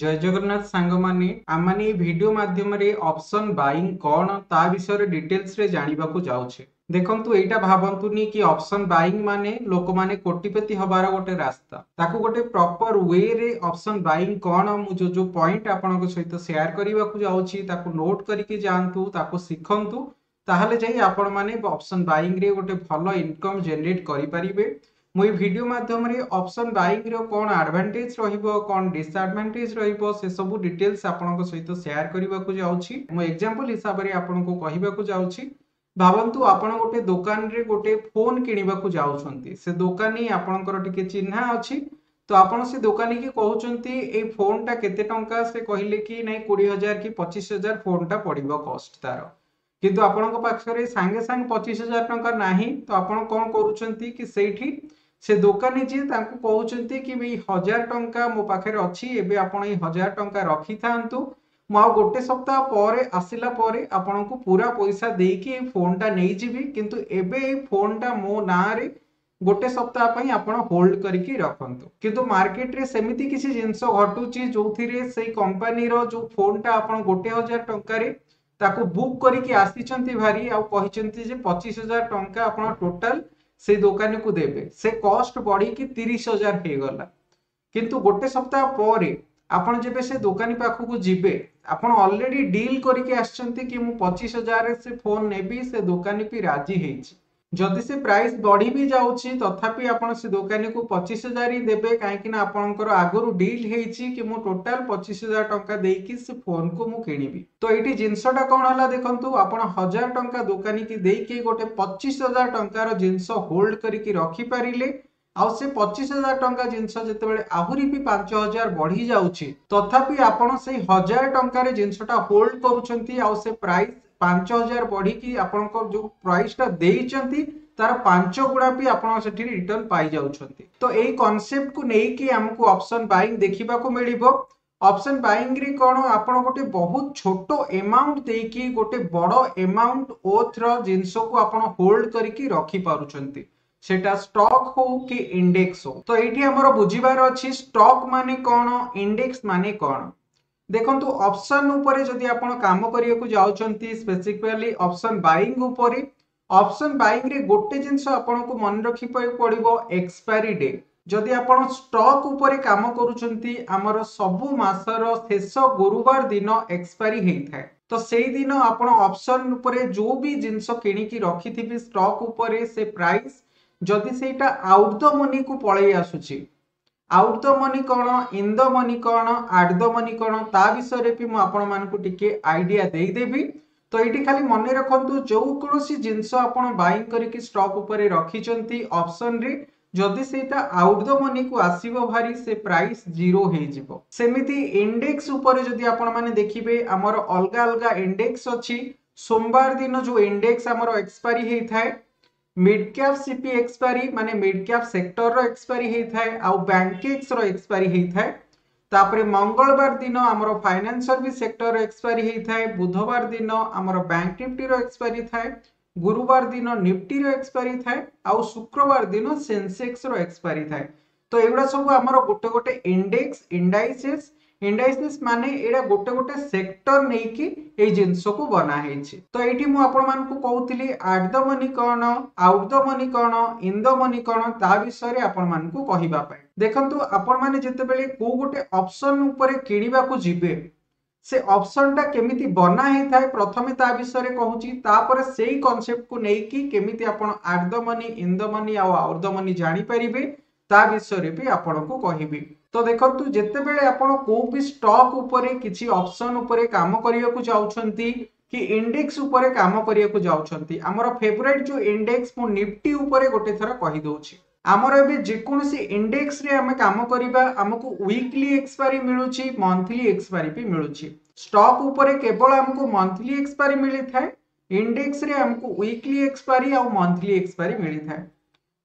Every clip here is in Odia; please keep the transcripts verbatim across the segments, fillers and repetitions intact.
ଜୟ ଜଗନ୍ନାଥ ସାଙ୍ଗମାନେ, ଆମମାନେ ଏଇ ଭିଡିଓ ମାଧ୍ୟମରେ ଅପସନ୍ ବାଇଂ କଣ ତା ବିଷୟରେ ଡିଟେଲ୍ସରେ ଜାଣିବାକୁ ଯାଉଛେ। ଦେଖନ୍ତୁ, ଏଇଟା ଭାବନ୍ତୁନି କି ଅପସନ୍ ବାଇଂ ମାନେ ଲୋକମାନେ କୋଟିପତି ହବାର ଗୋଟେ ରାସ୍ତା। ତାକୁ ଗୋଟେ ପ୍ରପର ୱେରେ ଅପସନ୍ ବାଇଂ କଣ, ମୁଁ ଯୋଉ ଯୋଉ ପଏଣ୍ଟ ଆପଣଙ୍କ ସହିତ ସେୟାର କରିବାକୁ ଯାଉଛି ତାକୁ ନୋଟ୍ କରିକି ଯାଆନ୍ତୁ, ତାକୁ ଶିଖନ୍ତୁ, ତାହେଲେ ଯାଇ ଆପଣମାନେ ଅପସନ୍ ବାଇଂରେ ଗୋଟେ ଭଲ ଇନକମ୍ ଜେନେରେଟ୍ କରିପାରିବେ। ମୁଁ ଏଇ ଭିଡିଓ ମାଧ୍ୟମରେ ଅପସନ୍ ବାଇଂର କଣ ଆଡଭାଣ୍ଟେଜ ରହିବ, କଣ ଡିସଆଡଭାଣ୍ଟେଜ ରହିବ, ସେସବୁ ଡିଟେଲ୍ସ ଆପଣଙ୍କ ସହିତ ସେୟାର କରିବାକୁ ଯାଉଛି। ମୁଁ ଏକ୍ଜାମ୍ପଲ ହିସାବରେ ଆପଣଙ୍କୁ କହିବାକୁ ଯାଉଛି। ଭାବନ୍ତୁ, ଆପଣ ଗୋଟେ ଦୋକାନରେ ଗୋଟେ ଫୋନ କିଣିବାକୁ ଯାଉଛନ୍ତି। ସେ ଦୋକାନୀ ଆପଣଙ୍କର ଟିକେ ଚିହ୍ନା ଅଛି, ତ ଆପଣ ସେ ଦୋକାନୀକି କହୁଛନ୍ତି, ଏଇ ଫୋନଟା କେତେ ଟଙ୍କା? ସେ କହିଲେ କି ନାଇଁ, କୋଡିଏ ହଜାର କି ପଚିଶ ହଜାର ଫୋନଟା ପଡିବ କଷ୍ଟ ତାର। କିନ୍ତୁ ଆପଣଙ୍କ ପାଖରେ ସାଙ୍ଗେ ସାଙ୍ଗେ ପଚିଶ ହଜାର ଟଙ୍କା ନାହିଁ। ତ ଆପଣ କଣ କରୁଛନ୍ତି କି ସେଇଠି ସେ ଦୋକାନୀ ଯିଏ ତାଙ୍କୁ କହୁଛନ୍ତି କି ଏଇ ହଜାର ଟଙ୍କା ମୋ ପାଖରେ ଅଛି, ଏବେ ଆପଣ ଏଇ ହଜାର ଟଙ୍କା ରଖିଥାନ୍ତୁ, ମୁଁ ଆଉ ଗୋଟେ ସପ୍ତାହ ପରେ ଆସିଲା ପରେ ଆପଣଙ୍କୁ ପୁରା ପଇସା ଦେଇକି ଏଇ ଫୋନଟା ନେଇଯିବି, କିନ୍ତୁ ଏବେ ଏଇ ଫୋନଟା ମୋ ନାଁରେ ଗୋଟେ ସପ୍ତାହ ପାଇଁ ଆପଣ ହୋଲ୍ଡ କରିକି ରଖନ୍ତୁ। କିନ୍ତୁ ମାର୍କେଟରେ ସେମିତି କିଛି ଜିନିଷ ଘଟୁଛି ଯୋଉଥିରେ ସେଇ କମ୍ପାନୀର ଯୋଉ ଫୋନଟା ଆପଣ ଗୋଟେ ହଜାର ଟଙ୍କାରେ ତାକୁ ବୁକ୍ କରିକି ଆସିଛନ୍ତି ଭାରି ଆଉ କହିଛନ୍ତି ଯେ ପଚିଶ ହଜାର ଟଙ୍କା ଆପଣ ଟୋଟାଲ ସେଇ ଦୋକାନୀକୁ ଦେବେ, ସେ କଷ୍ଟ ବଢିକି ତିରିଶ ହଜାର ହେଇଗଲା। କିନ୍ତୁ ଗୋଟେ ସପ୍ତାହ ପରେ ଆପଣ ଯେବେ ସେ ଦୋକାନୀ ପାଖକୁ ଯିବେ, ଆପଣ ଅଲରେଡି ଡିଲ୍ କରିକି ଆସିଛନ୍ତି କି ମୁଁ ପଚିଶ ହଜାରରେ ସେ ଫୋନ ନେବି, ସେ ଦୋକାନୀ ବି ରାଜି ହେଇଛି। ଯଦି ସେ ପ୍ରାଇସ୍ ବଢି ବି ଯାଉଛି, ତଥାପି ଆପଣ ସେ ଦୋକାନୀକୁ ପଚିଶ ହଜାର ହିଁ ଦେବେ, କାହିଁକି ନା ଆପଣଙ୍କର ଆଗରୁ ଡିଲ୍ ହେଇଛି କି ମୁଁ ଟୋଟାଲ ପଚିଶ ହଜାର ଟଙ୍କା ଦେଇକି ସେ ଫୋନକୁ ମୁଁ କିଣିବି। ତ ଏଇଠି ଜିନିଷଟା କଣ ହେଲା ଦେଖନ୍ତୁ, ଆପଣ ହଜାର ଟଙ୍କା ଦୋକାନୀକି ଦେଇକି ଗୋଟେ ପଚିଶ ହଜାର ଟଙ୍କାର ଜିନିଷ ହୋଲ୍ଡ କରିକି ରଖିପାରିଲେ। ଆଉ ସେ ପଚିଶ ହଜାର ଟଙ୍କା ଜିନିଷ ଯେତେବେଳେ ଆହୁରି ବି ପାଞ୍ଚ ହଜାର ବଢି ଯାଉଛି, ତଥାପି ଆପଣ ସେଇ ହଜାର ଟଙ୍କାରେ ଜିନିଷଟା ହୋଲ୍ଡ କରୁଛନ୍ତି। ଆଉ ସେ ପ୍ରାଇସ୍ ପାଞ୍ଚ ହଜାର ବଢିକି ଆପଣଙ୍କ ଯୋଉ ପ୍ରାଇସ୍ ଟା ଦେଇଛନ୍ତି ତାର ପାଞ୍ଚ ଗୁଣା ବି ଆପଣ ସେଠି ରିଟର୍ନ ପାଇଯାଉଛନ୍ତି। ତ ଏଇ କନସେପ୍ଟକୁ ନେଇକି ଆମକୁ ଅପସନ ବାଇଂ ଦେଖିବାକୁ ମିଳିବ। ଅପସନ ବାଇଂ ରେ କଣ, ଆପଣ ଗୋଟେ ବହୁତ ଛୋଟ ଏମାଉଣ୍ଟ ଦେଇକି ଗୋଟେ ବଡ ଏମାଉଣ୍ଟ ଓଥର ଜିନିଷକୁ ଆପଣ ହୋଲ୍ଡ କରିକି ରଖିପାରୁଛନ୍ତି, ସେଟା ଷ୍ଟକ୍ ହଉ କି ଇଣ୍ଡେକ୍ସ ହଉ। ତ ଏଇଠି ଆମର ବୁଝିବାର ଅଛି ଷ୍ଟକ୍ ମାନେ କଣ, ଇଣ୍ଡେକ୍ସ ମାନେ କଣ। ଦେଖନ୍ତୁ, ଅପସନ ଉପରେ ଯଦି ଆପଣ କାମ କରିବାକୁ ଯାଉଛନ୍ତି, ସ୍ପେସିଫିକାଲି ଅପସନ ବାଇଂ ଉପରେ, ଅପସନ ବାଇଂ ରେ ଗୋଟେ ଜିନିଷ ଆପଣଙ୍କୁ ମନେ ରଖିବାକୁ ପଡିବ, ଏକ୍ସପାୟରି ଡେଟ୍। ଯଦି ଆପଣ ଷ୍ଟକ୍ ଉପରେ କାମ କରୁଛନ୍ତି, ଆମର ସବୁ ମାସର ଶେଷ ଗୁରୁବାର ଦିନ ଏକ୍ସପାୟରି ହେଇଥାଏ। ତ ସେଇଦିନ ଆପଣ ଅପସନ ଉପରେ ଯୋଉ ବି ଜିନିଷ କିଣିକି ରଖିଥିବେ ଷ୍ଟକ୍ ଉପରେ, ସେ ପ୍ରାଇସ୍ ଯଦି ସେଇଟା ଆଉଟ the ମନିକୁ ପଳେଇ ଆସୁଛି। ଆଉଟ the money କଣ, ଇନ୍ the money କଣ, ଆଟ୍ the money କଣ, ତା ବିଷୟରେ ବି ମୁଁ ଆପଣମାନଙ୍କୁ ଟିକେ ଆଇଡିଆ ଦେଇଦେବି। ତ ଏଇଠି ଖାଲି ମନେ ରଖନ୍ତୁ, ଯୋଉ କୌଣସି ଜିନିଷ ଆପଣ ବାଇଂ କରିକି ଷ୍ଟକ୍ ଉପରେ ରଖିଛନ୍ତି ଅପସନରେ, ଯଦି ସେଇଟା ଆଉଟ the ମନିକୁ ଆସିବ ଭାରି, ସେ ପ୍ରାଇସ୍ ଜିରୋ ହେଇଯିବ। ସେମିତି ଇଣ୍ଡେକ୍ସ ଉପରେ ଯଦି ଆପଣ ମାନେ ଦେଖିବେ, ଆମର ଅଲଗା ଅଲଗା ଇଣ୍ଡେକ୍ସ ଅଛି। ସୋମବାର ଦିନ ଯୋଉ ଇଣ୍ଡେକ୍ସ ଆମର ଏକ୍ସପାୟରି ହେଇଥାଏ, ମିଡ କ୍ୟାପ୍ ସିପି ଏକ୍ସପାୟରି, ମାନେ ମିଡ କ୍ୟାପ୍ ସେକ୍ଟରର ଏକ୍ସପାୟରି ହେଇଥାଏ ଆଉ ବ୍ୟାଙ୍କଏକ୍ସ ର ଏକ୍ସପାୟରି ହେଇଥାଏ। ତାପରେ ମଙ୍ଗଳବାର ଦିନ ଆମର ଫାଇନାନ୍ସ ସର୍ଭିସ ସେକ୍ଟର ଏକ୍ସପାୟରି ହେଇଥାଏ। ବୁଧବାର ଦିନ ଆମର ବ୍ୟାଙ୍କ ନିଫ୍ଟିର ଏକ୍ସପାୟରି ଥାଏ। ଗୁରୁବାର ଦିନ ନିଫ୍ଟିର ଏକ୍ସପାୟରି ଥାଏ ଆଉ ଶୁକ୍ରବାର ଦିନ ସେନ୍ସେକ୍ସ ର ଏକ୍ସପାୟରି ଥାଏ। ତ ଏଗୁଡ଼ା ସବୁ ଆମର ଗୋଟେ ଗୋଟେ ଇଣ୍ଡେକ୍ସ, ଇଣ୍ଡାଇସେସ୍। ଇଣ୍ଡାଇସିସ୍ ମାନେ ଏଇଟା ଗୋଟେ ଗୋଟେ ସେକ୍ଟର ନେଇକି ଏଇ ଜିନିଷକୁ ବନା ହେଇଛି। ତ ଏଇଠି ମୁଁ ଆପଣମାନଙ୍କୁ କହୁଥିଲି ଆଟ୍ the money କଣ, ଆଉଟ the money କଣ, ଇନ୍ the money କଣ, ତା ବିଷୟରେ ଆପଣମାନଙ୍କୁ କହିବା ପାଇଁ। ଦେଖନ୍ତୁ, ଆପଣମାନେ ଯେତେବେଳେ କୋଉ ଗୋଟେ ଅପସନ ଉପରେ କିଣିବାକୁ ଯିବେ, ସେ ଅପସନଟା କେମିତି ବନା ହେଇଥାଏ ପ୍ରଥମେ ତା ବିଷୟରେ କହୁଛି, ତାପରେ ସେଇ କନସେପ୍ଟକୁ ନେଇକି କେମିତି ଆପଣ at the money, in the money ଆଉ ଆଉଟ the money ଜାଣିପାରିବେ ତା ବିଷୟରେ ବି ଆପଣଙ୍କୁ କହିବି। ତ ଦେଖନ୍ତୁ, ଯେତେବେଳେ ଆପଣ କୋଉ ବି ଷ୍ଟକ୍ ଉପରେ କିଛି ଅପସନ ଉପରେ କାମ କରିବାକୁ ଯାଉଛନ୍ତି କି ଇଣ୍ଡେକ୍ସ ଉପରେ କାମ କରିବାକୁ ଯାଉଛନ୍ତି, ଆମର ଫେଭରାଇଟ ଯୋଉ ଇଣ୍ଡେକ୍ସ, ମୁଁ ନିଫ୍ଟି ଉପରେ ଗୋଟେ ଥର କହିଦଉଛି। ଆମର ଏବେ ଯେକୌଣସି ଇଣ୍ଡେକ୍ସରେ ଆମେ କାମ କରିବା, ଆମକୁ ୱିକଲି ଏକ୍ସପାୟରି ମିଳୁଛି, ମନ୍ଥଲି ଏକ୍ସପାୟରି ବି ମିଳୁଛି। ଷ୍ଟକ୍ ଉପରେ କେବଳ ଆମକୁ ମନ୍ଥଲି ଏକ୍ସପାୟରି ମିଳିଥାଏ, ଇଣ୍ଡେକ୍ସରେ ଆମକୁ ୱିକଲି ଏକ୍ସପାୟରି ଆଉ ମନ୍ଥଲି ଏକ୍ସପାୟରି ମିଳିଥାଏ।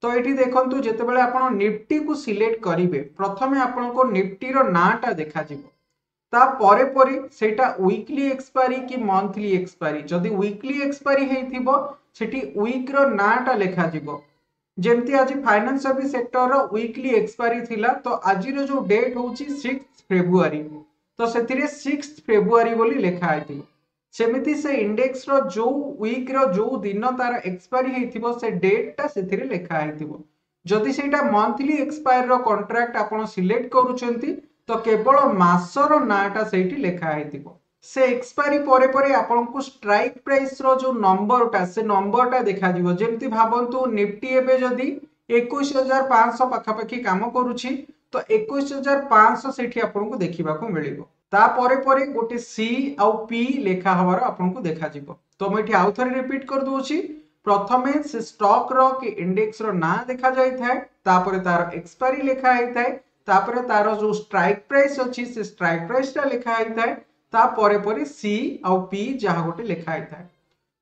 ତ ଏଠି ଦେଖନ୍ତୁ, ଯେତେବେଳେ ଆପଣ ନିଫ୍ଟିକୁ ସିଲେକ୍ଟ କରିବେ, ପ୍ରଥମେ ଆପଣଙ୍କୁ ନିଫ୍ଟିର ନାଁଟା ଦେଖାଯିବ, ତାପରେ ପରେ ସେଇଟା ୱିକଲି ଏକ୍ସପାୟରି କି ମନ୍ଥଲି ଏକ୍ସପାୟରି। ଯଦି ୱିକଲି ଏକ୍ସପାୟରି ହେଇଥିବ, ସେଠି ୱିକର ନାଁଟା ଲେଖାଯିବ। ଯେମିତି ଆଜି ଫାଇନାନ୍ସ ସର୍ଭିସ ସେକ୍ଟରର ୱିକଲି ଏକ୍ସପାୟରି ଥିଲା, ତ ଆଜିର ଯୋଉ ଡେଟ୍ ହଉଛି ସିକ୍ସ ଫେବୃଆରୀ, ତ ସେଥିରେ ସିକ୍ସ ଫେବୃଆରୀ ବୋଲି ଲେଖା ହେଇଥିବ। ସେମିତି ସେ ଇଣ୍ଡେକ୍ସର ଯୋଉ ୱିକ୍ର ଯୋଉ ଦିନ ତାର ଏକ୍ସପାୟରି ହେଇଥିବ, ସେ ଡେଟ୍ଟା ସେଥିରେ ଲେଖା ହେଇଥିବ। ଯଦି ସେଇଟା ମନ୍ଥଲି ଏକ୍ସପାୟାରର କଣ୍ଟ୍ରାକ୍ଟ ଆପଣ ସିଲେକ୍ଟ କରୁଛନ୍ତି, ତ କେବଳ ମାସର ନାଁଟା ସେଇଠି ଲେଖା ହେଇଥିବ। ସେ ଏକ୍ସପାୟରି ପରେ ପରେ ଆପଣଙ୍କୁ ଷ୍ଟ୍ରାଇକ୍ ପ୍ରାଇସର ଯୋଉ ନମ୍ବରଟା, ସେ ନମ୍ବରଟା ଦେଖାଯିବ। ଯେମିତି ଭାବନ୍ତୁ, ନିଫ୍ଟି ଏବେ ଯଦି ଏକୋଇଶ ହଜାର ପାଞ୍ଚଶହ ପାଖାପାଖି କାମ କରୁଛି, ତ ଏକୋଇଶ ହଜାର ପାଞ୍ଚଶହ ସେଇଠି ଆପଣଙ୍କୁ ଦେଖିବାକୁ ମିଳିବ। ତାପରେ ପରେ ଗୋଟେ ସି ଆଉ ପି ଲେଖା ହବାର ଆପଣଙ୍କୁ ଦେଖାଯିବ। ତ ମୁଁ ଏଠି ଆଉ ଥରେ ରିପିଟ୍ କରିଦଉଛି। ପ୍ରଥମେ ସେ ଷ୍ଟକର କି ଇଣ୍ଡେକ୍ସର ନାଁ ଦେଖାଯାଇଥାଏ, ତାପରେ ତାର ଏକ୍ସପାୟରି ଲେଖା ହେଇଥାଏ, ତାପରେ ତାର ଯୋଉ ଷ୍ଟ୍ରାଇକ୍ ପ୍ରାଇସ୍ ଅଛି, ସେ ଷ୍ଟ୍ରାଇକ୍ ପ୍ରାଇସଟା ଲେଖା ହେଇଥାଏ, ତାପରେ ପରେ ସି ଆଉ ପି ଯାହା ଗୋଟେ ଲେଖା ହେଇଥାଏ।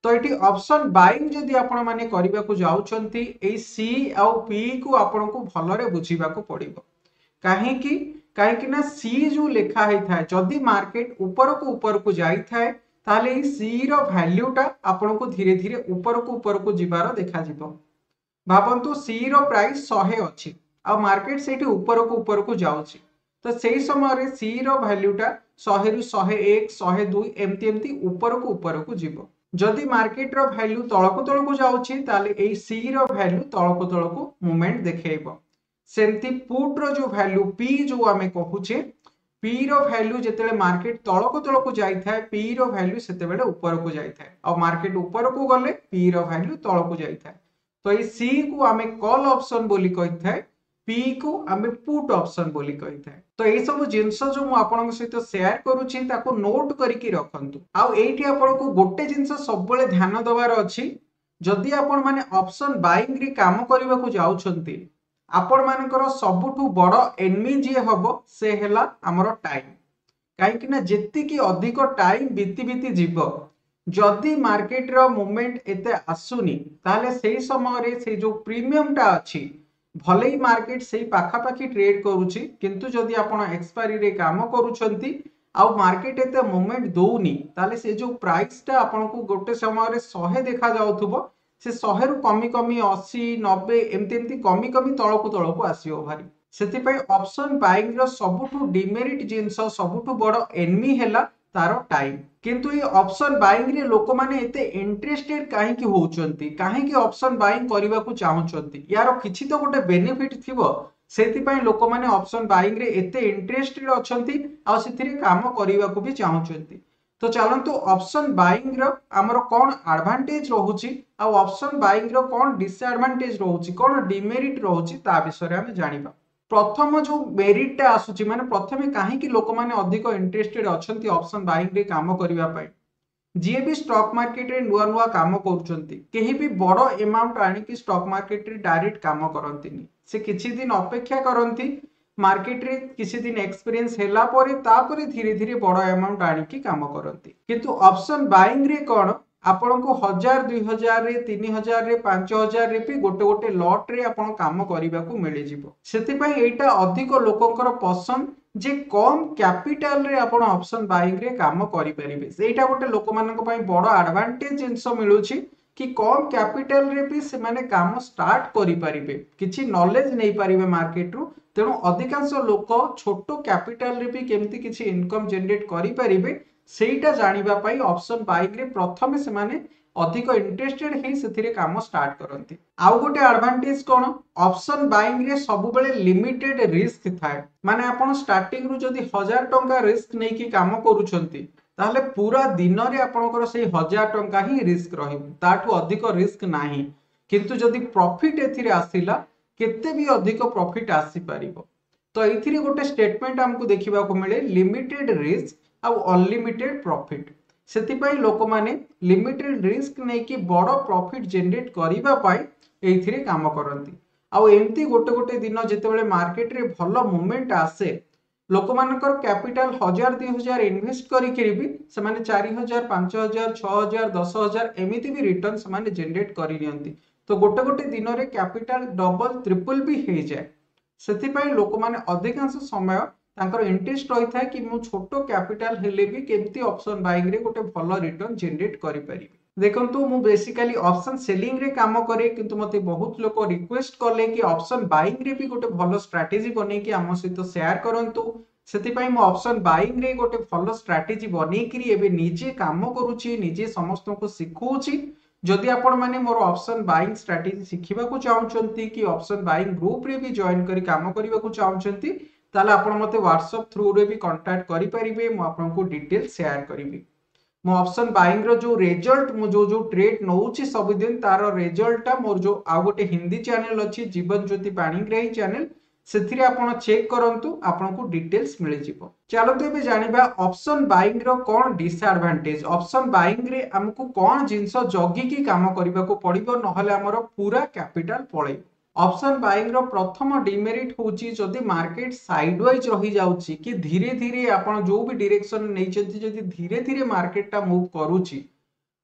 ତ ଏଠି ଅପସନ ବାଇଂ ଯଦି ଆପଣ ମାନେ କରିବାକୁ ଯାଉଛନ୍ତି, ଏଇ ସି ଆଉ ପି କୁ ଆପଣଙ୍କୁ ଭଲରେ ବୁଝିବାକୁ ପଡିବ। କାହିଁକି? କାହିଁକି ନା ସି ଯୋଉ ଲେଖା ହେଇଥାଏ, ଯଦି ମାର୍କେଟ ଉପରକୁ ଉପରକୁ ଯାଇଥାଏ, ତାହେଲେ ଏଇ ସି ର ଭ୍ୟାଲ୍ୟୁଟା ଆପଣଙ୍କୁ ଧୀରେ ଧୀରେ ଉପରକୁ ଉପରକୁ ଯିବାର ଦେଖାଯିବ। ଭାବନ୍ତୁ, ସି ର ପ୍ରାଇସ୍ ଶହେ ଅଛି ଆଉ ମାର୍କେଟ ସେଇଠି ଉପରକୁ ଉପରକୁ ଯାଉଛି, ତ ସେଇ ସମୟରେ ସି ର ଭ୍ୟାଲ୍ୟୁଟା ଶହେରୁ ଶହେ ଏକ, ଶହେ ଦୁଇ, ଏମିତି ଏମିତି ଉପରକୁ ଉପରକୁ ଯିବ। ଯଦି ମାର୍କେଟର ଭ୍ୟାଲ୍ୟୁ ତଳକୁ ତଳକୁ ଯାଉଛି, ତାହେଲେ ଏଇ ସି ର ଭ୍ୟାଲ୍ୟୁ ତଳକୁ ତଳକୁ ମୁଭମେଣ୍ଟ ଦେଖେଇବ। ସେମିତି ପୁଟ୍ର ଯୋଉ ଭ୍ୟାଲ୍ୟୁ, ପି ଯୋଉ ଆମେ କହୁଛେ, ପି ର ଭ୍ୟାଲ୍ୟୁ ଯେତେବେଳେ ମାର୍କେଟ ତଳକୁ ତଳକୁ ଯାଇଥାଏ, ପି ର ଭ୍ୟାଲ୍ୟୁ ସେତେବେଳେ ଉପରକୁ ଯାଇଥାଏ, ଆଉ ମାର୍କେଟ ଉପରକୁ ଗଲେ ପି ର ଭ୍ୟାଲ୍ୟୁ ତଳକୁ ଯାଇଥାଏ। ତ ଏଇ ସି କୁ ଆମେ କଲ୍ ଅପସନ ବୋଲି କହିଥାଏ, ପି କୁ ଆମେ ପୁଟ୍ ଅପସନ ବୋଲି କହିଥାଏ। ତ ଏଇ ସବୁ ଜିନିଷ ଯୋଉ ମୁଁ ଆପଣଙ୍କ ସହିତ ସେୟାର କରୁଛି, ତାକୁ ନୋଟ କରିକି ରଖନ୍ତୁ। ଆଉ ଏଇଠି ଆପଣଙ୍କୁ ଗୋଟେ ଜିନିଷ ସବୁବେଳେ ଧ୍ୟାନ ଦେବାର ଅଛି। ଯଦି ଆପଣ ମାନେ ଅପସନ ବାଇଂ ରେ କାମ କରିବାକୁ ଯାଉଛନ୍ତି, ଆପଣ ମାନଙ୍କର ସବୁଠୁ ବଡ ଏନିମି ଯିଏ ହବ, ସେ ହେଲା ଆମର ଟାଇମ। କାହିଁକି ନା ଯେତିକି ଅଧିକ ଟାଇମ ବିତି ବିତି ଯିବ, ଯଦି ମାର୍କେଟର ମୁଭମେଣ୍ଟ ଏତେ ଆସୁନି, ତାହେଲେ ସେଇ ସମୟରେ ସେଇ ଯୋଉ ପ୍ରିମିୟମଟା ଅଛି, ଭଲେ ହିଁ ମାର୍କେଟ ସେଇ ପାଖାପାଖି ଟ୍ରେଡ୍ କରୁଛି, କିନ୍ତୁ ଯଦି ଆପଣ ଏକ୍ସପାୟରିରେ କାମ କରୁଛନ୍ତି ଆଉ ମାର୍କେଟ ଏତେ ମୁଭମେଣ୍ଟ ଦଉନି, ତାହେଲେ ସେ ଯୋଉ ପ୍ରାଇସଟା ଆପଣଙ୍କୁ ଗୋଟେ ସମୟରେ ଶହେ ଦେଖା ଯାଉଥିବ, ସେ ଶହେରୁ କମି କମି ଅଶୀ, ନବେ, ଏମିତି ଏମିତି କମି କମି ତଳକୁ ତଳକୁ ଆସିବ ଭାରି। ସେଥିପାଇଁ ଅପସନ ବାଇଂ ର ସବୁଠୁ ଡିମେରିଟ ଜିନିଷ, ସବୁଠୁ ବଡ ଏନିମି ହେଲା ତାର ଟାଇମ। କିନ୍ତୁ ଏଇ ଅପସନ ବାଇଂ ରେ ଲୋକମାନେ ଏତେ ଇଣ୍ଟରେଷ୍ଟେଡ କାହିଁକି ହଉଛନ୍ତି? କାହିଁକି ଅପସନ ବାଇଂ କରିବାକୁ ଚାହୁଁଛନ୍ତି? ୟାର କିଛି ତ ଗୋଟେ ବେନିଫିଟ ଥିବ, ସେଥିପାଇଁ ଲୋକମାନେ ଅପସନ ବାଇଂ ରେ ଏତେ ଇଣ୍ଟରେଷ୍ଟେଡ ଅଛନ୍ତି ଆଉ ସେଥିରେ କାମ କରିବାକୁ ବି ଚାହୁଁଛନ୍ତି। ତ ଚାଲନ୍ତୁ, ଅପସନ ବାଇଂ ର ଆମର କଣ ଆଡଭାଣ୍ଟେଜ ରହୁଛି ଆଉ ଅପସନ ବାଇଂ ର କଣ ଡିସଆଡଭାଣ୍ଟେଜ ରହୁଛି, କଣ ଡିମେରିଟ ରହୁଛି, ତା ବିଷୟରେ ଆମେ ଜାଣିବା। ପ୍ରଥମ ଯୋଉ ମେରିଟଟା ଆସୁଛି, ମାନେ ପ୍ରଥମେ କାହିଁକି ଲୋକମାନେ ଅଧିକ ଇଣ୍ଟରେଷ୍ଟେଡ ଅଛନ୍ତି ଅପସନ ବାଇଂ ରେ କାମ କରିବା ପାଇଁ? ଯିଏ ବି ଷ୍ଟକ୍ ମାର୍କେଟରେ ନୂଆ ନୂଆ କାମ କରୁଛନ୍ତି, କେହି ବି ବଡ ଏମାଉଣ୍ଟ ଆଣିକି ଷ୍ଟକ୍ ମାର୍କେଟରେ ଡାଇରେକ୍ଟ କାମ କରନ୍ତିନି। ସେ କିଛି ଦିନ ଅପେକ୍ଷା କରନ୍ତି, ମାର୍କେଟରେ କିଛି ଦିନ ଏକ୍ସପିରିଏନ୍ସ ହେଲା ପରେ ତାପରେ ଧୀରେ ଧୀରେ ବଡ ଆମାଉଣ୍ଟ ଆଣିକି କାମ କରନ୍ତି। କିନ୍ତୁ ଅପସନ ବାଇଂ ରେ କଣ, ଆପଣଙ୍କୁ ହଜାର, ଦୁଇ ହଜାରରେ, ତିନି ହଜାରରେ, ପାଞ୍ଚ ହଜାରରେ ବି ଗୋଟେ ଗୋଟେ ଲଟରେ ଆପଣ କାମ କରିବାକୁ ମିଳିଯିବ। ସେଥିପାଇଁ ଏଇଟା ଅଧିକ ଲୋକଙ୍କର ପସନ୍ଦ ଯେ କମ କ୍ୟାପିଟାଲରେ ଆପଣ ଅପସନ ବାଇଂ ରେ କାମ କରିପାରିବେ। ସେଇଟା ଗୋଟେ ଲୋକମାନଙ୍କ ପାଇଁ ବଡ ଆଡଭାଣ୍ଟେଜ ଜିନିଷ ମିଳୁଛି କି କମ କ୍ୟାପିଟାଲରେ ବି ସେମାନେ କାମ ଷ୍ଟାର୍ଟ କରିପାରିବେ, କିଛି ନଲେଜ ନେଇପାରିବେ ମାର୍କେଟରୁ। ତେଣୁ ଅଧିକାଂଶ ଲୋକ ଛୋଟ କ୍ୟାପିଟାଲରେ ବି କେମିତି କିଛି ଇନକମ ଜେନେରେଟ କରିପାରିବେ, ସେଇଟା ଜାଣିବା ପାଇଁ ଅପସନ ବାଇଂ ରେ ପ୍ରଥମେ ସେମାନେ ଅଧିକ ଇଣ୍ଟରେଷ୍ଟେଡ ହେଇ ସେଥିରେ କାମ ଷ୍ଟାର୍ଟ କରନ୍ତି। ଆଉ ଗୋଟେ ଆଡଭାଣ୍ଟେଜ କଣ? ଅପସନ ବାଇଂ ରେ ସବୁବେଳେ ଲିମିଟେଡ ରିସ୍କ ଥାଏ। ମାନେ ଆପଣ ଷ୍ଟାର୍ଟିଂ ରୁ ଯଦି ହଜାର ଟଙ୍କା ରିସ୍କ ନେଇକି କାମ କରୁଛନ୍ତି, ତାହେଲେ ପୁରା ଦିନରେ ଆପଣଙ୍କର ସେଇ ହଜାର ଟଙ୍କା ହିଁ ରିସ୍କ ରହିବ, ତାଠୁ ଅଧିକ ରିସ୍କ ନାହିଁ। କିନ୍ତୁ ଯଦି ପ୍ରଫିଟ ଏଥିରେ ଆସିଲା, କେତେ ବି ଅଧିକ ପ୍ରଫିଟ ଆସିପାରିବ। ତ ଏଇଥିରେ ଗୋଟେ ଷ୍ଟେଟମେଣ୍ଟ ଆମକୁ ଦେଖିବାକୁ ମିଳେ, ଲିମିଟେଡ ରିସ୍କ ଆଉ ଅନଲିମିଟେଡ ପ୍ରଫିଟ। ସେଥିପାଇଁ ଲୋକମାନେ ଲିମିଟେଡ ରିସ୍କ ନେଇକି ବଡ ପ୍ରଫିଟ ଜେନେରେଟ କରିବା ପାଇଁ ଏଇଥିରେ କାମ କରନ୍ତି। ଆଉ ଏମିତି ଗୋଟେ ଗୋଟେ ଦିନ ଯେତେବେଳେ ମାର୍କେଟରେ ଭଲ ମୁଭମେଣ୍ଟ ଆସେ, ଲୋକମାନଙ୍କର କ୍ୟାପିଟାଲ ହଜାର, ଦୁଇ ହଜାର ଇନଭେଷ୍ଟ କରିକିରି ବି ସେମାନେ ଚାରି ହଜାର, ପାଞ୍ଚ ହଜାର, ଛଅ ହଜାର, ଦଶ ହଜାର, ଏମିତି ବି ରିଟର୍ନ ସେମାନେ ଜେନେରେଟ କରିନିଅନ୍ତି। ତ ଗୋଟେ ଗୋଟେ ଦିନରେ କ୍ୟାପିଟାଲ ଡବଲ, ତ୍ରିପଲ ବି ହେଇଯାଏ। ସେଥିପାଇଁ ଲୋକମାନେ ଅଧିକାଂଶ ସମୟ ତାଙ୍କର ଇଣ୍ଟରେଷ୍ଟ ରହିଥାଏ କି ମୁଁ ଛୋଟ କ୍ୟାପିଟାଲ ହେଲେ ବି କେମିତି ଅପସନ ବାଇଂ ରେ ଗୋଟେ ଭଲ ରିଟର୍ନ ଜେନେରେଟ କରିପାରିବି। ଦେଖନ୍ତୁ, ମୁଁ ବେସିକାଲି ଅପସନ ସେଲିଂ ରେ କାମ କରେ, କିନ୍ତୁ ମତେ ବହୁତ ଲୋକ ରିକ୍ୱେଷ୍ଟ କଲେ କି ଅପସନ ବାଇଂ ରେ ବି ଗୋଟେ ଭଲ ଷ୍ଟ୍ରାଟେଜି ବନେଇକି ଆମ ସହିତ ସେୟାର କରନ୍ତୁ। ସେଥିପାଇଁ ମୁଁ ଅପସନ୍ ବାଇଂରେ ଗୋଟେ ଭଲ ଷ୍ଟ୍ରାଟେଜି ବନେଇକିରି ଏବେ ନିଜେ କାମ କରୁଛି, ନିଜେ ସମସ୍ତଙ୍କୁ ଶିଖଉଛି। ଯଦି ଆପଣମାନେ ମୋର ଅପସନ୍ ବାଇଂ ଷ୍ଟ୍ରାଟେଜି ଶିଖିବାକୁ ଚାହୁଁଛନ୍ତି କି ଅପସନ୍ ବାଇଂ ଗ୍ରୁପରେ ବି ଜଏନ୍ କରି କାମ କରିବାକୁ ଚାହୁଁଛନ୍ତି, ତାହେଲେ ଆପଣ ମୋତେ ହ୍ୱାଟ୍ସଆପ୍ ଥ୍ରୁରେ ବି କଣ୍ଟାକ୍ଟ କରିପାରିବେ। ମୁଁ ଆପଣଙ୍କୁ ଡିଟେଲ ସେୟାର କରିବି। ମୋ ଅପସନ୍ ବାଇଂର ଯୋଉ ରେଜଲ୍ଟ, ମୁଁ ଯୋଉ ଯୋଉ ଟ୍ରେଡ୍ ନଉଛି ସବୁଦିନ, ତାର ରେଜଲ୍ଟଟା ମୋର ଯୋଉ ଆଉ ଗୋଟେ ହିନ୍ଦୀ ଚ୍ୟାନେଲ ଅଛି, ଜୀବନ ଜ୍ୟୋତି ପାଣିଗ୍ରାହୀ ଚ୍ୟାନେଲ, ସେଥିରେ ଆପଣ ଚେକ୍ କରନ୍ତୁ, ଆପଣଙ୍କୁ ଡିଟେଲ୍ସ ମିଳିଯିବ। ଚାଲନ୍ତୁ ଏବେ ଜାଣିବା ଅପସନ୍ ବାଇଂର କ'ଣ ଡିସଆଡଭାଣ୍ଟେଜ, ଅପସନ୍ ବାଇଂରେ ଆମକୁ କ'ଣ ଜିନିଷ ଜଗିକି କାମ କରିବାକୁ ପଡିବ, ନହେଲେ ଆମର ପୁରା କ୍ୟାପିଟାଲ ପଳେଇବ। ଅପସନ୍ ବାଇଂର ପ୍ରଥମ ଡିମେରିଟ୍ ହେଉଛି, ଯଦି ମାର୍କେଟ ସାଇଡ୍ ୱାଇଜ ରହିଯାଉଛି କି ଧୀରେ ଧୀରେ ଆପଣ ଯୋଉ ବି ଡିରେକ୍ସନ ନେଇଛନ୍ତି, ଯଦି ଧୀରେ ଧୀରେ ମାର୍କେଟଟା ମୁଭ୍ କରୁଛି,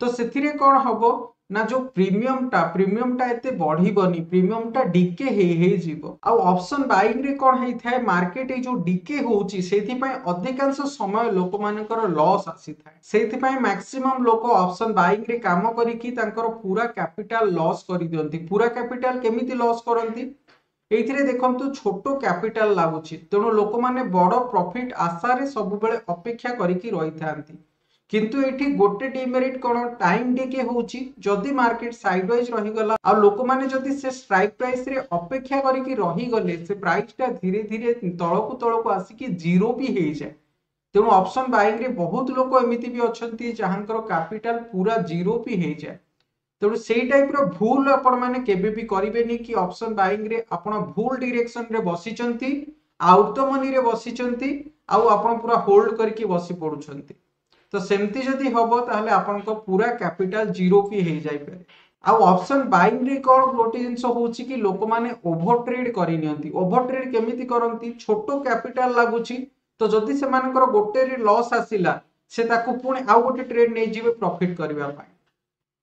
ତ ସେଥିରେ କ'ଣ ହବ ନା ଯୋଉ ପ୍ରିମିୟମଟା ପ୍ରିମିୟମଟା ଏତେ ବଢିବନି, ପ୍ରିମିୟମଟା ଡିକେ ହେଇ ହେଇଯିବ। ଆଉ ଅପସନ୍ ବାଇଂରେ କ'ଣ ହେଇଥାଏ, ମାର୍କେଟ ଏଇ ଯୋଉ ଡିକେ ହଉଛି, ସେଇଥିପାଇଁ ଅଧିକାଂଶ ସମୟ ଲୋକମାନଙ୍କର ଲସ୍ ଆସିଥାଏ। ସେଇଥିପାଇଁ ମ୍ୟାକ୍ସିମମ୍ ଲୋକ ଅପସନ୍ ବାଇଂରେ କାମ କରିକି ତାଙ୍କର ପୁରା କ୍ୟାପିଟାଲ ଲସ୍ କରିଦିଅନ୍ତି। ପୁରା କ୍ୟାପିଟାଲ କେମିତି ଲସ୍ କରନ୍ତି? ଏଇଥିରେ ଦେଖନ୍ତୁ, ଛୋଟ କ୍ୟାପିଟାଲ ଲାଗୁଛି, ତେଣୁ ଲୋକମାନେ ବଡ ପ୍ରଫିଟ ଆଶାରେ ସବୁବେଳେ ଅପେକ୍ଷା କରିକି ରହିଥାନ୍ତି। କିନ୍ତୁ ଏଇଠି ଗୋଟେ ଡିମେରିଟ୍ କ'ଣ? ଟାଇମ୍ ଡିକେ ହଉଛି। ଯଦି ମାର୍କେଟ ସାଇଡ୍ ୱାଇଜ ରହିଗଲା ଆଉ ଲୋକମାନେ ଯଦି ସେ ଷ୍ଟ୍ରାଇକ୍ ପ୍ରାଇସରେ ଅପେକ୍ଷା କରିକି ରହିଗଲେ, ସେ ପ୍ରାଇସଟା ଧୀରେ ଧୀରେ ତଳକୁ ତଳକୁ ଆସିକି ଜିରୋ ବି ହେଇଯାଏ। ତେଣୁ ଅପସନ୍ ବାଇଂରେ ବହୁତ ଲୋକ ଏମିତି ବି ଅଛନ୍ତି ଯାହାଙ୍କର କ୍ୟାପିଟାଲ ପୁରା ଜିରୋ ବି ହେଇଯାଏ। ତେଣୁ ସେଇ ଟାଇପର ଭୁଲ ଆପଣମାନେ କେବେ ବି କରିବେନି କି ଅପସନ୍ ବାଇଂରେ ଆପଣ ଭୁଲ ଡିରେକ୍ସନରେ ବସିଛନ୍ତି, ଆଉଟ୍ the ମନିରେ ବସିଛନ୍ତି ଆଉ ଆପଣ ପୁରା ହୋଲ୍ଡ କରିକି ବସି ପଡୁଛନ୍ତି। ତ ସେମିତି ଯଦି ହବ, ତାହେଲେ ଆପଣଙ୍କ ପୁରା କ୍ୟାପିଟାଲ ଜିରୋ ବି ହେଇଯାଇପାରେ। ଆଉ ଅପସନ୍ ବାଇଂରେ କ'ଣ ଗୋଟେ ଜିନିଷ ହଉଛି କି ଲୋକମାନେ ଓଭର ଟ୍ରେଡ୍ କରିନିଅନ୍ତି। ଓଭର ଟ୍ରେଡ୍ କେମିତି କରନ୍ତି? ଛୋଟ କ୍ୟାପିଟାଲ ଲାଗୁଛି, ତ ଯଦି ସେମାନଙ୍କର ଗୋଟେରେ ଲସ୍ ଆସିଲା, ସେ ତାକୁ ପୁଣି ଆଉ ଗୋଟେ ଟ୍ରେଡ୍ ନେଇଯିବେ ପ୍ରଫିଟ୍ କରିବା ପାଇଁ।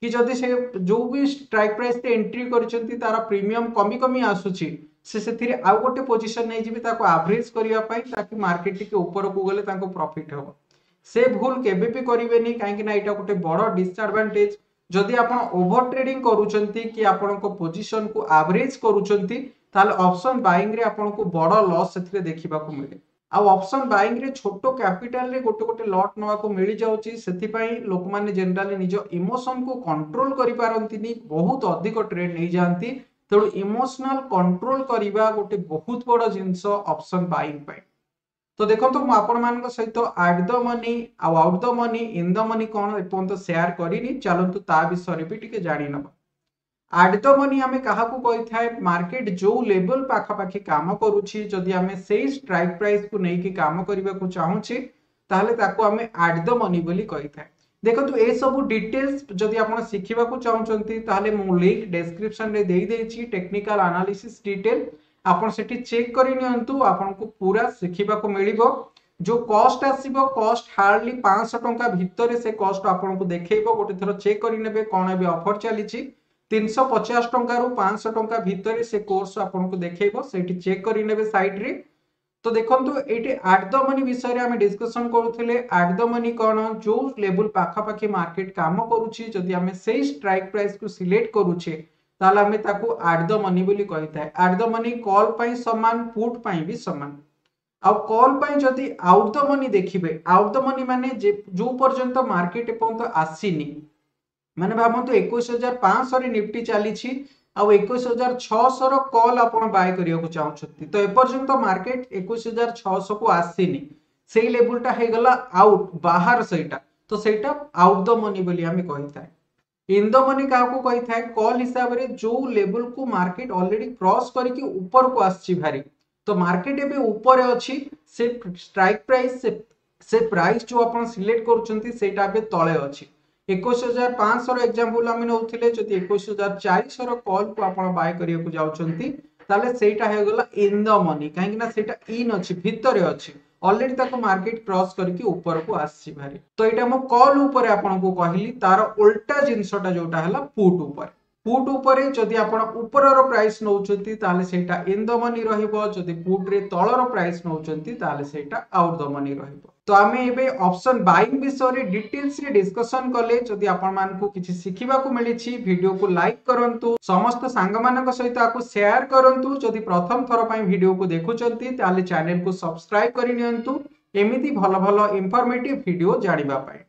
କି ଯଦି ସେ ଯୋଉ ବି ଷ୍ଟ୍ରାଇକ୍ ପ୍ରାଇସରେ ଏଣ୍ଟ୍ରି କରିଛନ୍ତି, ତାର ପ୍ରିମିୟମ କମି କମି ଆସୁଛି, ସେ ସେଥିରେ ଆଉ ଗୋଟେ ପୋଜିସନ ନେଇଯିବେ ତାକୁ ଆଭରେଜ କରିବା ପାଇଁ, ତାକି ମାର୍କେଟ ଟିକେ ଉପରକୁ ଗଲେ ତାଙ୍କୁ ପ୍ରଫିଟ୍ ହବ। ସେ ଭୁଲ କେବେ ବି କରିବେନି, କାହିଁକି ନା ଏଇଟା ଗୋଟେ ବଡ ଡିସଆଡଭାଣ୍ଟେଜ। ଯଦି ଆପଣ ଓଭର ଟ୍ରେଡିଂ କରୁଛନ୍ତି କି ଆପଣଙ୍କ ପୋଜିସନକୁ ଆଭରେଜ କରୁଛନ୍ତି, ତାହେଲେ ଅପସନ୍ ବାଇଂରେ ଆପଣଙ୍କୁ ବଡ ଲସ୍ ସେଥିରେ ଦେଖିବାକୁ ମିଳେ। ଆଉ ଅପସନ୍ ବାଇଂରେ ଛୋଟ କ୍ୟାପିଟାଲରେ ଗୋଟେ ଗୋଟେ ଲଟ୍ ନେବାକୁ ମିଳିଯାଉଛି, ସେଥିପାଇଁ ଲୋକମାନେ ଜେନେରାଲି ନିଜ ଇମୋସନକୁ କଣ୍ଟ୍ରୋଲ କରିପାରନ୍ତିନି, ବହୁତ ଅଧିକ ଟ୍ରେଡ୍ ନେଇଯାଆନ୍ତି। ତେଣୁ ଇମୋସନାଲ କଣ୍ଟ୍ରୋଲ କରିବା ଗୋଟେ ବହୁତ ବଡ ଜିନିଷ ଅପସନ୍ ବାଇଂ ପାଇଁ। ତ ଦେଖନ୍ତୁ, ମୁଁ ଆପଣମାନଙ୍କ ସହିତ ଆଟ୍ the money ଆଉ out the money, in the money କ'ଣ ଏପର୍ଯ୍ୟନ୍ତ ସେୟାର କରିନି। ଚାଲନ୍ତୁ ତା ବିଷୟରେ ବି ଟିକେ ଜାଣିନେବା। ଆଟ୍ the money ଆମେ କାହାକୁ କହିଥାଏ? ମାର୍କେଟ ଯୋଉ ଲେଭେଲ ପାଖାପାଖି କାମ କରୁଛି, ଯଦି ଆମେ ସେଇ ଷ୍ଟ୍ରାଇକ୍ ପ୍ରାଇସକୁ ନେଇକି କାମ କରିବାକୁ ଚାହୁଁଛେ, ତାହେଲେ ତାକୁ ଆମେ ଆଟ୍ the money ବୋଲି କହିଥାଏ। ଦେଖନ୍ତୁ, ଏସବୁ ଡିଟେଲ୍ସ ଯଦି ଆପଣ ଶିଖିବାକୁ ଚାହୁଁଛନ୍ତି, ତାହେଲେ ମୁଁ ଲିଙ୍କ ଡେସ୍କ୍ରିପସନରେ ଦେଇଦେଇଛି, ଟେକ୍ନିକାଲ ଆନାଲିସିସ୍ ଡିଟେଲ, ଆପଣ ସେଠି ଚେକ୍ କରି ନିଅନ୍ତୁ, ଆପଣଙ୍କୁ ପୁରା ଶିଖିବାକୁ ମିଳିବ। ଯୋଉ କଷ୍ଟ ଆସିବ, କଷ୍ଟ ହାର୍ଡଲି ପାଞ୍ଚଶହ ଟଙ୍କା ଭିତରେ ସେ କଷ୍ଟ ଆପଣଙ୍କୁ ଦେଖେଇବ। ଗୋଟେ ଥର ଚେକ୍ କରିନେବେ କ'ଣ ଏବେ ଅଫର ଚାଲିଛି। ତିନିଶହ ପଚାଶ ଟଙ୍କାରୁ ପାଞ୍ଚଶହ ଟଙ୍କା ଭିତରେ ସେ କୋର୍ସ ଆପଣଙ୍କୁ ଦେଖେଇବ, ସେଇଠି ଚେକ୍ କରିନେବେ ସାଇଟ୍ରେ। ତ ଦେଖନ୍ତୁ, ଏଇଠି ଆଟ୍ the money ବିଷୟରେ ଆମେ ଡିସ୍କସନ କରୁଥିଲେ। ଆଟ୍ the money କ'ଣ? ଯୋଉ ଲେଭେଲ ପାଖାପାଖି ମାର୍କେଟ କାମ କରୁଛି, ଯଦି ଆମେ ସେଇ ଷ୍ଟ୍ରାଇକ୍ ପ୍ରାଇସକୁ ସିଲେକ୍ଟ କରୁଛେ, ତାହେଲେ ଆମେ ତାକୁ ଆଟ୍ the money ବୋଲି କହିଥାଏ। ଆଟ୍ the money call ପାଇଁ ସମାନ, ପୁଟ୍ ପାଇଁ ବି ସମାନ। ଆଉ କଲ୍ ପାଇଁ ଯଦି ଆଉଟ୍ the money ଦେଖିବେ, ଆଉଟ୍ the money ମାନେ ଯୋଉ ପର୍ଯ୍ୟନ୍ତ ମାର୍କେଟ ଏପର୍ଯ୍ୟନ୍ତ ଆସିନି। ମାନେ ଭାବନ୍ତୁ, ଏକୋଇଶ ହଜାର ପାଞ୍ଚଶହରେ ନିଫ୍ଟି ଚାଲିଛି ଆଉ ଏକୋଇଶ ହଜାର ଛଅଶହର କଲ୍ ଆପଣ ବାୟ କରିବାକୁ ଚାହୁଁଛନ୍ତି, ତ ଏପର୍ଯ୍ୟନ୍ତ ମାର୍କେଟ ଏକୋଇଶ ହଜାର ଛଅଶହକୁ ଆସିନି, ସେଇ ଲେଭେଲଟା ହେଇଗଲା ଆଉଟ୍, ବାହାର ସେଇଟା, ତ ସେଇଟା ଆଉଟ୍ the money ବୋଲି ଆମେ କହିଥାଏ। ଇନ୍ the money କାହାକୁ କହିଥାଏ? କଲ୍ ହିସାବରେ ଯୋଉ ଲେଭେଲକୁ ମାର୍କେଟ ଅଲରେଡି କ୍ରସ୍ କରିକି ଉପରକୁ ଆସିଛି ଭାରି, ତ ମାର୍କେଟ ଏବେ ଉପରେ ଅଛି, ସେ ଷ୍ଟ୍ରାଇକ୍ ପ୍ରାଇସ୍, ସେ ପ୍ରାଇସ୍ ଯୋଉ ଆପଣ ସିଲେକ୍ଟ କରୁଛନ୍ତି, ସେଇଟା ଏବେ ତଳେ ଅଛି। ଏକୋଇଶ ହଜାର ପାଞ୍ଚଶହର ଏକ୍ଜାମ୍ପଲ ଆମେ ନେଉଥିଲେ, ଯଦି ଏକୋଇଶ ହଜାର ଚାରିଶହର କଲ୍କୁ ଆପଣ ବାୟ କରିବାକୁ ଯାଉଛନ୍ତି, ତାହେଲେ ସେଇଟା ହେଇଗଲା ଇନ୍ the money, କାହିଁକି ନା ସେଇଟା ଇନ୍ ଅଛି, ଭିତରେ ଅଛି, ଅଲରେଡି ତାକୁ ମାର୍କେଟ କ୍ରସ୍ କରିକି ଉପରକୁ ଆସିଛି ଭାରି। ତ ଏଇଟା ମୁଁ କଲ୍ ଉପରେ ଆପଣଙ୍କୁ କହିଲି। ତାର ଓଲଟା ଜିନିଷଟା ଯୋଉଟା ହେଲା ପୁଟ୍ ଉପରେ। ପୁଟ୍ ଉପରେ ଯଦି ଆପଣ ଉପରର ପ୍ରାଇସ୍ ନଉଛନ୍ତି ତାହେଲେ ସେଇଟା ଇନ୍ the money ରହିବ ଯଦି ପୁଟ୍ରେ ତଳର ପ୍ରାଇସ୍ ନଉଛନ୍ତି ତାହେଲେ ସେଇଟା ଆଉଟ୍ the money ରହିବ ତ ଆମେ ଏବେ ଅପସନ୍ ବାଇଂ ବିଷୟରେ ଡିଟେଲ୍ସରେ ଡିସ୍କସନ୍ କଲେ ଯଦି ଆପଣମାନଙ୍କୁ କିଛି ଶିଖିବାକୁ ମିଳିଛି ଭିଡିଓକୁ ଲାଇକ୍ କରନ୍ତୁ ସମସ୍ତ ସାଙ୍ଗମାନଙ୍କ ସହିତ ଆକୁ ସେୟାର କରନ୍ତୁ ଯଦି ପ୍ରଥମ ଥର ପାଇଁ ଭିଡିଓକୁ ଦେଖୁଛନ୍ତି ତାହେଲେ ଚ୍ୟାନେଲକୁ ସବସ୍କ୍ରାଇବ କରିନିଅନ୍ତୁ ଏମିତି ଭଲ ଭଲ ଇନଫର୍ମେଟିଭ ଭିଡିଓ ଜାଣିବା ପାଇଁ